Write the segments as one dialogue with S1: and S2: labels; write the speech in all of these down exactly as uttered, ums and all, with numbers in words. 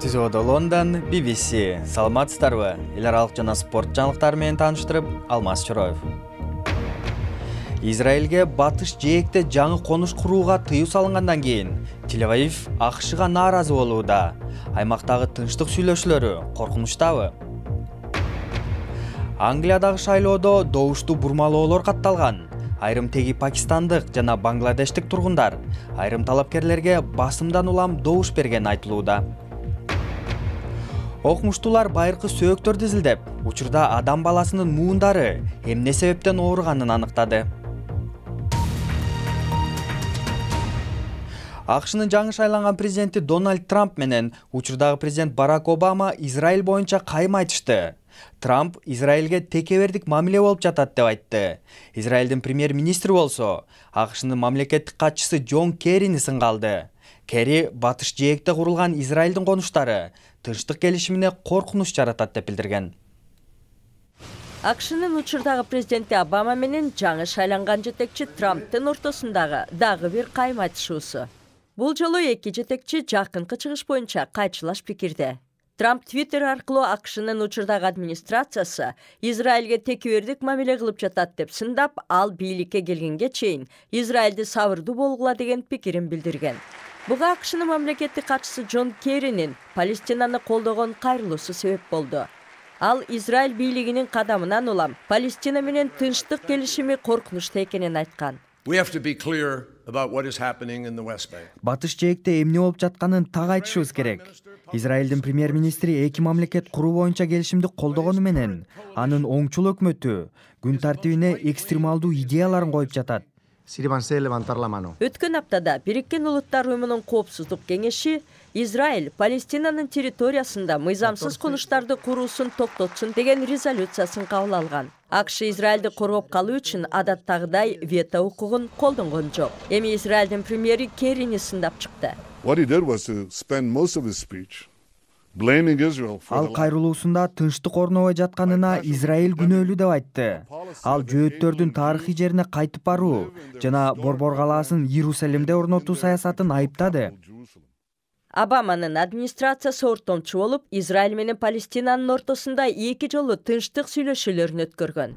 S1: Түзүүдө Лондон, би би си. Саламатсыздарбы? Эл аралык жана спорт жаңылыктары менен тааныштырып, Алмаз Чороев. Израилге батыш жээкте жаңы конуш курууга тыюу салынгандан кийин Тель-Авив АКШга нааразы болууда. Аймактагы тынчтык сүйлөшүүлөрү коркунучтабы? Англиядагы шайлоодо добуштуу бурмалоолор катталган. Айрым теги пакистандык жана бангладештик тургундар айрым талапкерлерге басымдан улам добуш берген айтылууда. Окумуштуулар байыркы сөөктөрдү изилдеп, учурда адам баласынын муундары эмне себептен ооруганын аныктады. АКШнын жаңы шайланган президенти Дональд Трамп менен учурдагы президент Барак Обама Израиль боюнча кайым айтышты. Трамп Израилге текебердик мамиле болуп жатат деп айтты. Израилдин премьер-министри болсо АКШнын мамлекеттик катчысы Джон Керрини сынга алды. Керри батыш жээкте курулган Израилдин конуштары тынчтык келишимине коркунуч жаратат деп билдирген.
S2: АКШнын учурдагы президенти Обама менен жаңы шайланган жетекчи Трамптын ортосундагы дагы бир кайым айтышуусу. Бул жолу эки жетекчи жакынкы чыгыш боюнча кайчылаш пикирде. Трамп Твиттер аркылуу АКШнын учурдагы администрациясы Израилге текебердик мамиле кылып жатат деп сындап, ал бийликке келгенге чейин Израилди сабырдуу болгула деген пикирин билдирген. Буга АКШнын мамлекеттик катчысы Джон Керринин Палестинаны колдогон кайрылуусу себеп болду. Ал Израиль бийлигинин кадамынан улам Палестина менен тынчтык келишими коркунучта экенин айткан.
S1: Батыш жээкте эмне болуп жатканын так айтышыбыз керек. Израилдин премьер-министри эки мамлекет куруу боюнча келишимди колдогону менен анын оңчул өкмөтү күн тартибине экстремалдуу идеяларын коюп жатат.
S2: Өткөн аптада Бириккен Улуттар уюмунун коопсуздук кеңеши Израиль Палестинанын территориясында мыйзамсыз конуштарды куруусун токтотсун деген резолюциясын кабыл алган. АКШ Израилди коргоп калуу үчүн адаттагыдай вето укугун колдонгон жок. Эми Израилдин премьери Керрини сындап чыкты.
S1: Ал кайрылуусунда тынчтык орнобой жатканына Израиль күнөөлүү деп айтты. Ал жөөттөрдүн тарыхый жерине кайтып баруу жана Борбор калаасын Иерусалимде орнотуу саясатын айыптады.
S2: Обаманын администрациясы ортомчу болуп, Израиль менен Палестинанын ортосунда эки жолу тынчтык сүйлөшүүлөрүн өткөргөн.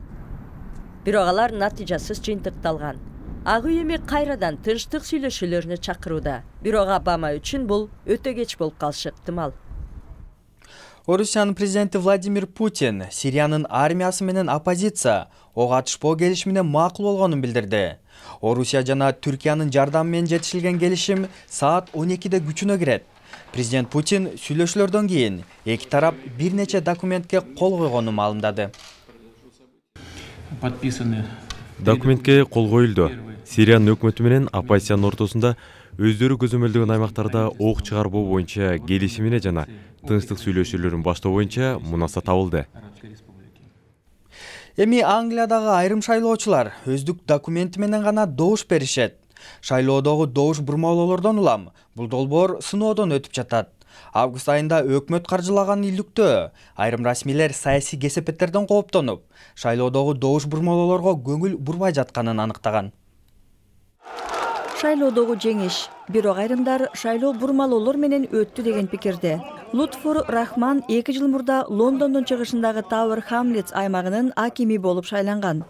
S2: Бирок алар натыйжасыз жыйынтыкталган. Ак үй эми кайрадан тынчтык сүйлөшүүлөрүнө чакырууда. Бирок Обама үчүн бул өтө кеч болуп калышы ыктымал.
S1: Орусиянын президенти Владимир Путин Сириянын армиясы менен оппозиция ок атышпоо келишимине макул болгонун билдирди. Орусия жана Түркиянын жардамы менен жетишилген келишим саат он экиде күчүнө кирет. Президент Путин сүйлөшүүлөрдөн кийин эки тарап бир нече документке кол койгонун маалымдады.
S3: Документке кол коюлду. Сириянын өкмөтү менен оппозициянын ортосунда өздөрү көзөмөлдөгөн аймактарда ок чыгарбоо боюнча келишимине жана тынчтык сүйлөшүүлөрүн баштоо боюнча мунаса табылды.
S1: Эми Англиядагы айрым шайлоочулар өздүк документи менен гана добуш беришет. Шайлоодогу добуш бурмалоолордон улам бул долбоор сыноодон өтүп жатат. Август айында өкмөт каржылаган илдиктөө айрым расмийлер саясий кесепеттерден кооптонуп, шайлоодогу добуш бурмалоолорго көңүл бурбай жатканын аныктаган.
S4: Шайлоодогу жеңиш, бирок айрымдар шайлоо бурмалоолор менен өттү деген пикирде. Лутфур Рахман эки жыл мурда Лондондун чыгышындагы Тауэр Хамлетс аймагынын акими болуп шайланган.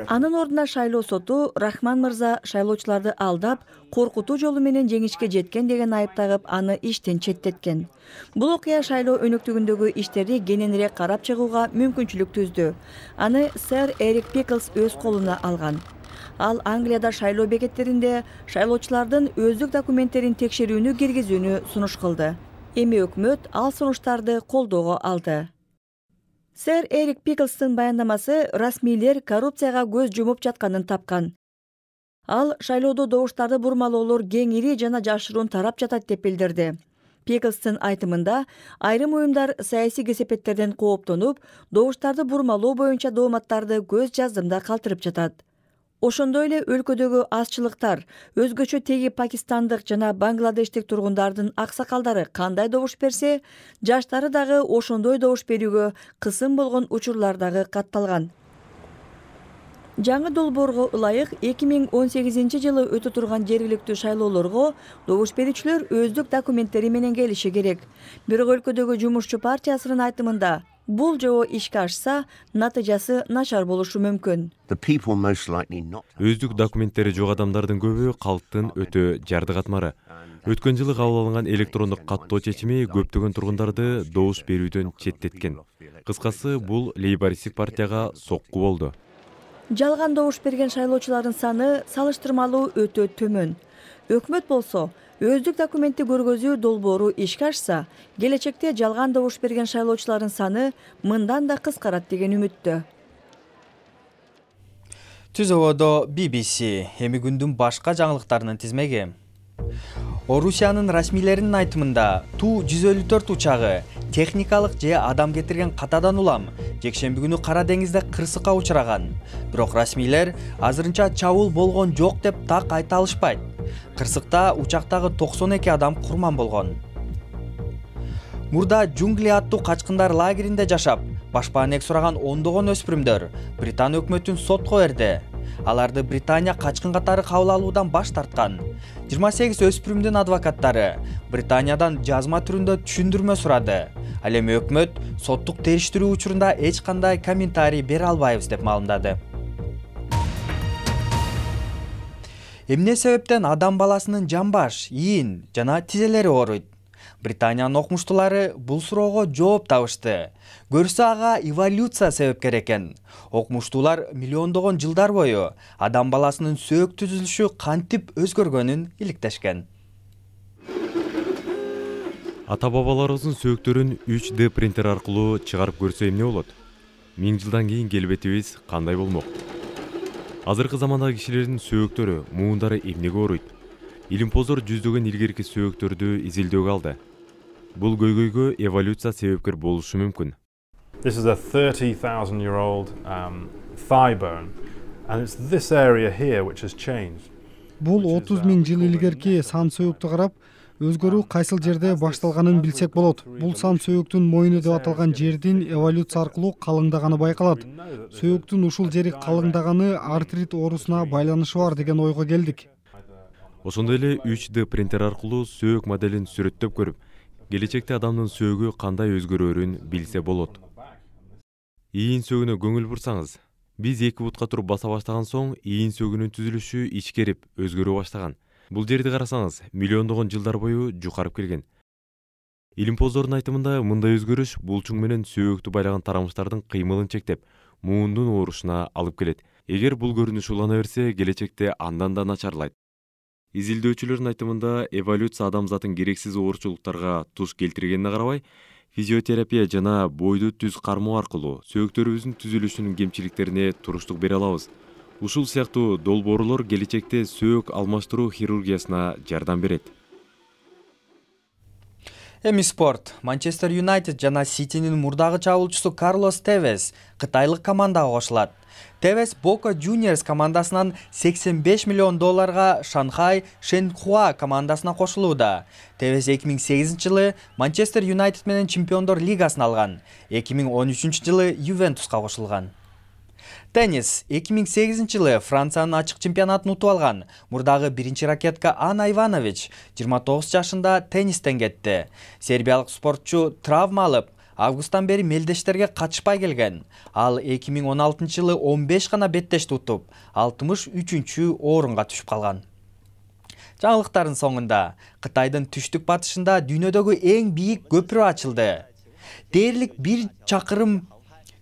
S4: Анын ордуна шайлоо соту Рахман мырза шайлоочуларды алдап, коркутуу жолу менен жеңишке жеткен деген айып тагып, аны иштен четтеткен. Бул окуя шайлоо өнөктүгүндөгү иштерди кененирээк карап чыгууга мүмкүнчүлүк түздү. Аны сэр Эрик Пиклс өз колуна алган. Ал Англияда шайлоо бекеттеринде шайлоочулардын өздүк документтерин текшерүүнү киргизүүнү сунуш кылды. Эми өкмөт ал сунуштарды колдоого алды. Сэр Эрик Пиклстын баяндамасы расмийлер коррупцияга көз жумуп жатканын тапкан. Ал шайлоодо добуштарды бурмалоолор кеңири жана жашыруун тарап жатат деп билдирди. Пиклстын айтымында айрым уюмдар саясий кесепеттерден кооптонуп, добуштарды бурмалоо боюнча дооматтарды көз жаздымда калтырып жатат. Ошондой эле өлкөдөгү азчылыктар, өзгөчө теги пакистандык жана бангладештик тургундардын аксакалдары кандай добуш берсе, жаштары дагы ошондой добуш берүүгө кысым болгон учурлар дагы катталган. Жаңы долбоорго ылайык эки миң он сегизинчи жылы өтө турган жергиликтүү шайлоолорго добуш берүүчүлөр өздүк документтери менен келиши керек. Бирок өлкөдөгү жумушчу партиясынын айтымында бул жобо ишке ашса, натыйжасы начар болушу мүмкүн.
S3: Өздүк документтери жок адамдардын көбү калктын өтө жарды катмары. Өткөн жылы кабыл алынган электрондук каттоо чечими көптөгөн тургундарды добуш берүүдөн четтеткен. Кыскасы, бул лейбористтик партияга сокку болду.
S4: Жалган добуш берген шайлоочулардын саны салыштырмалуу өтө төмөн. Өкмөт болсо, өздүк документти көргөзүү долбоору ишке ашса, келечекте жалган добуш берген шайлоочулардын саны мындан да кыскарат деген үмүттө.
S1: Түзөбөдө би би си, эми күндүн башка жаңылыктарынын тизмеги. Орусиянын расмийлеринин айтымында Ту жүз элүү төрт учагы техникалык же адам кетирген катадан улам жекшемби күнү Кара деңизде кырсыкка учураган. Бирок расмийлер азырынча чабуул болгон жок деп так айта алышпайт. Кырсыкта учактагы токсон эки адам курман болгон. Мурда Джунгли аттуу качкындар лагеринде жашап, башпаанек сураган ондогон өспүрүмдөр Британ өкмөтүн сотко берди. Аларды Британия качкын катары кабыл алуудан баш тарткан. жыйырма сегиз өспүрүмдүн адвокаттары Британиядан жазма түрүндө түшүндүрмө сурады. Ал эми өкмөт соттук териштирүү учурунда эч кандай комментарий бере албайбыз деп маалымдады. Эмне себептен адам баласынын жамбаш, ийин жана тизелери ооруйт? Британиянын окумуштуулары бул суроого жооп табышты. Көрсө ага эволюция себепкер экен. Окумуштуулар миллиондогон жылдар бою адам баласынын сөөк түзүлүшү кантип өзгөргөнүн иликтешкен.
S3: Ата-бабаларыбыздын сөөктөрүн үч дэ принтер аркылуу чыгарып көрсө эмне болот? Миң жылдан кийин келбетибиз кандай болмок? Азыркы замандагы кишилердин сөөктөрү, муундары эмнеге ооруйт? Илимпоздор жүздөгөн илгерки сөөктөрдү изилдөөгө алды. Бул көйгөйгө эволюция себепкер болушу мүмкүн.
S5: This is a thirty thousand year old um, thigh bone, and it's this area here which has changed.
S6: Бул отуз миң жыл илгерки сан сөөктү карап, өзгөрүү кайсыл жерде башталганын билсек болот. Бул сан сөөктүн мойну деп аталган жердин эволюция аркылуу калыңдаганы байкалат. Сөөктүн ушул жери калыңдаганы артрит оорусуна байланышы бар деген ойго келдик.
S3: Ошондой эле үч дэ принтер аркылуу сөөк моделин сүрөттөп көрүп, келечекте адамдын сөөгү кандай өзгөрөрүн билсе болот. Ийин сөөгүнө көңүл бурсаңыз, биз эки бутка туруп баса баштаган соң ийин сөөгүнүн түзүлүшү ичкерип, өзгөрө баштаган. Бул жерди карасаңыз, миллиондогон жылдар бою жукарып келген. Илимпоздордун айтымында мындай өзгөрүш булчуң менен сөөктү байлаган тарамыштардын кыймылын чектеп, муундун оорушуна алып келет. Эгер бул көрүнүш улана берсе, келечекте андан да начарлайт. Изилдөөчүлөрдүн айтымында эволюция адамзатын керексиз оорчулуктарга туш келтиргенине карабай, физиотерапия жана бойду түз кармоо аркылуу сөөктөрүбүздүн түзүлүшүнүн кемчиликтерине туруштук бере алабыз. Ушул сыяктуу долбоорлор келечекте сөөк алмаштыруу хирургиясына жардам берет.
S1: Эми спорт. Манчестер Юнайтед жана Ситинин мурдагы чабуулчусу Карлос Тевес кытайлык командага кошулат. Тевес Бока Juniors командасынан сексен беш миллион долларга Шанхай Шенхуа командасына кошулууда. Тевес эки миң сегизинчи жылы Манчестер Юнайтед менен Чемпиондор лигасын алган. эки миң он үчүнчү жылы Ювентуска кошулган. Теннис. эки миң сегизинчи жылы Франциянын ачык чемпионатын утуп алган мурдагы биринчи ракетка Анна Иванович жыйырма тогуз жашында теннистен кетти. Сербиялык спортчу травма алып, августтан бери мелдештерге катышпай келген. Ал эки миң он алтынчы жылы он беш гана беттешти утуп, алтымыш үчүнчү орунга түшүп калган. Жаңылыктардын соңунда Кытайдын түштүк батышында дүйнөдөгү эң бийик көпүрө ачылды. Дээрлик бир чакырым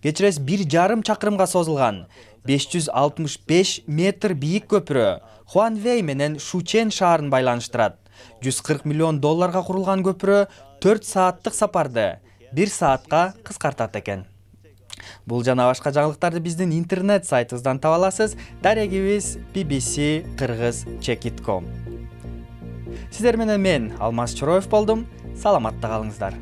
S1: Кечирес бир жарым чакырымга созулган беш жүз алтымыш беш метр бийик көпүрө Хуанвей менен Шучен шаарын байланыштырат. жүз кырк миллион долларга курулган көпүрө төрт сааттык сапарды бир саатка кыскартат экен. Бул жана башка жаңылыктарды биздин интернет сайтыбыздан таба аласыз. Дарегибиз би би си кыргыз чек точка ком. Сиздер менен мен Алмаз Чороев болдум. Саламатта калыңыздар.